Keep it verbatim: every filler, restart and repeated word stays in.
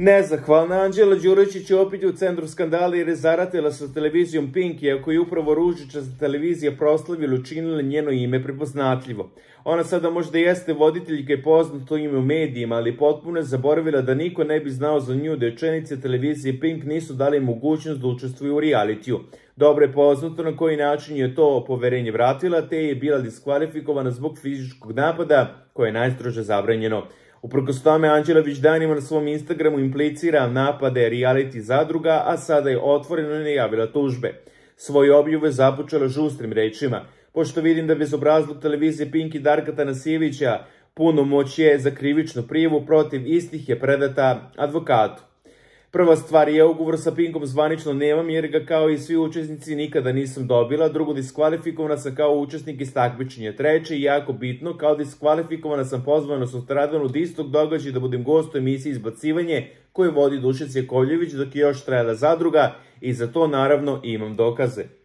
Nezahvalna Anđela Đuričić je opet u centru skandala jer je zaratila sa televizijom Pink, iako je upravo ružičasta televizija proslavila i učinila njeno ime prepoznatljivo. Ona sada možda jeste voditeljka i poznato ime u medijima, ali potpuno je zaboravila da niko ne bi znao za nju da učenice televizije Pink nisu dali mogućnost da učestvuju u realitiju. Dobro je poznato na koji način je to poverenje vratila, te je bila diskvalifikovana zbog fizičkog napada, koje je najstrože zabranjeno. Uprkos tome, Anđela već danima na svom Instagramu implicira napade reality zadruga, a sada je otvoreno najavila tužbe. Svoje objavu je započela žustrim rečima. Pošto vidim da bezobrazluk televizije Pink i Darka Tanasijevića punomoć je za krivičnu prijavu protiv istih je predata advokatu. Prva stvar je, ugovor sa Pinkom zvanično nemam jer ga kao i svi učesnici nikada nisam dobila. Drugo, diskvalifikovana sam kao učesnik iz takmičenja. Treće, i jako bitno, kao diskvalifikovana sam pozvana sutradan od istog događaja da budem gost u emisiji Izbacivanje koju vodi Dušica Jakovljević dok je još trajala zadruga i za to naravno imam dokaze.